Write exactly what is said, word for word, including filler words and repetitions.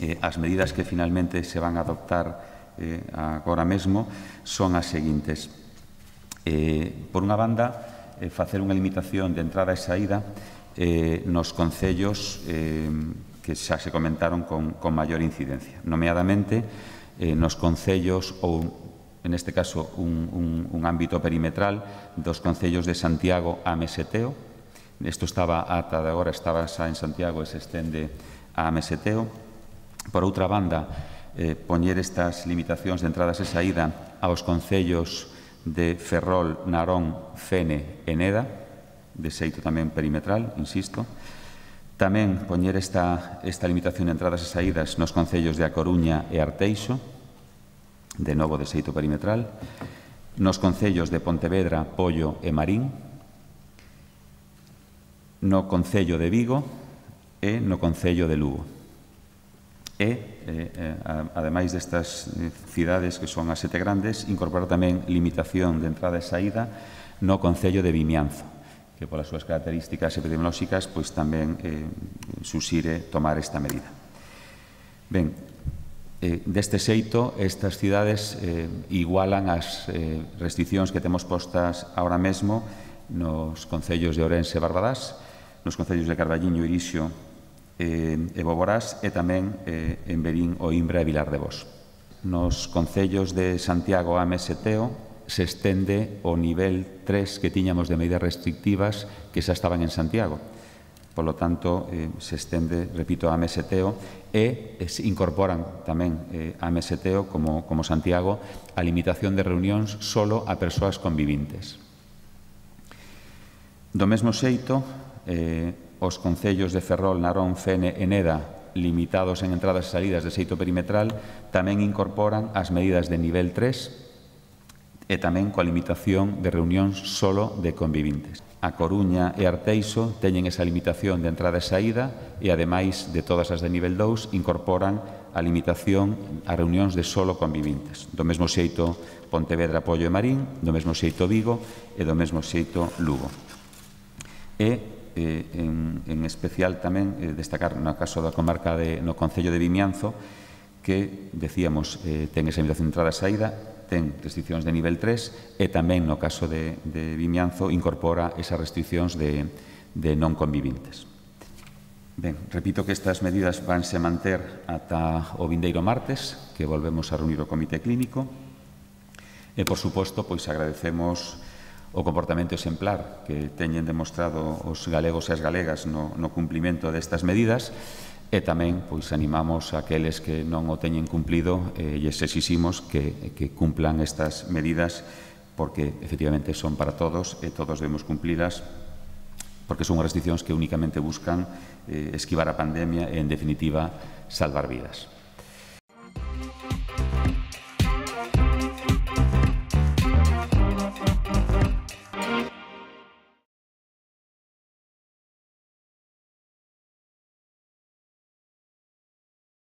Eh, as medidas que finalmente se van a adoptar eh, agora mesmo son as seguintes. Eh, por unha banda, eh, facer unha limitación de entrada e saída eh, nos concellos eh, que xa se comentaron con, con maior incidencia. Nomeadamente, eh, nos concellos ou en este caso, un, un, un ámbito perimetral dos concellos de Santiago a Meseteo. Isto estaba ata de agora, estaba xa en Santiago e se estende a Meseteo. Por outra banda, eh, poñer estas limitacións de entradas e saída aos concellos de Ferrol, Narón, Fene e Neda, de xeito tamén perimetral, insisto. Tamén poñer esta, esta limitación de entradas e saídas nos concellos de A Coruña e Arteixo, de novo de xeito perimetral, nos concellos de Pontevedra, Pollo e Marín, no concello de Vigo e no concello de Lugo. E, eh, ademais destas cidades que son as sete grandes, incorporar tamén limitación de entrada e saída no concello de Vimianzo, que polas súas características epidemiolóxicas pois tamén eh, susire tomar esta medida. Ben, Eh, deste xeito, estas cidades eh, igualan as eh, restriccións que temos postas ahora mesmo nos concellos de Ourense e Barbadás, nos concellos de Carballiño, Irixo eh, e Boborás e tamén eh, en Verín, Oimbra e Vilar de Bos. Nos concellos de Santiago a Meseteo se estende o nivel tres que tiñamos de medidas restrictivas que xa estaban en Santiago. Por lo tanto, eh, se estende, repito, a Meseteo e eh, se incorporan tamén eh, a Meseteo, como, como Santiago, a limitación de reunións solo a persoas convivintes. Do mesmo xeito, eh, os concellos de Ferrol, Narón, Fene e Neda, limitados en entradas e salidas de xeito perimetral, tamén incorporan as medidas de nivel tres e tamén coa limitación de reunións solo de convivintes. A Coruña e Arteixo teñen esa limitación de entrada e saída e, ademais de todas as de nivel dous, incorporan a limitación a reunións de solo convivintes. Do mesmo xeito Pontevedra, Pollo e Marín, do mesmo xeito Vigo e do mesmo xeito Lugo. E, eh, en, en especial tamén, eh, destacar no caso da comarca de, no concello de Vimianzo, que, decíamos, eh, ten esa limitación de entrada e saída, ten restriccións de nivel tres e tamén no caso de, de Vimianzo incorpora esas restriccións de, de non convivintes. Ben, repito que estas medidas vanse manter ata o vindeiro martes, que volvemos a reunir o Comité Clínico, e, por suposto, pois agradecemos o comportamento exemplar que teñen demostrado os galegos e as galegas no, no cumplimento destas medidas, e tamén pois animamos a aqueles que non o teñen cumplido e lles exiximos que, que cumplan estas medidas porque efectivamente son para todos e todos debemos cumplilas porque son restriccións que únicamente buscan eh, esquivar a pandemia e, en definitiva, salvar vidas.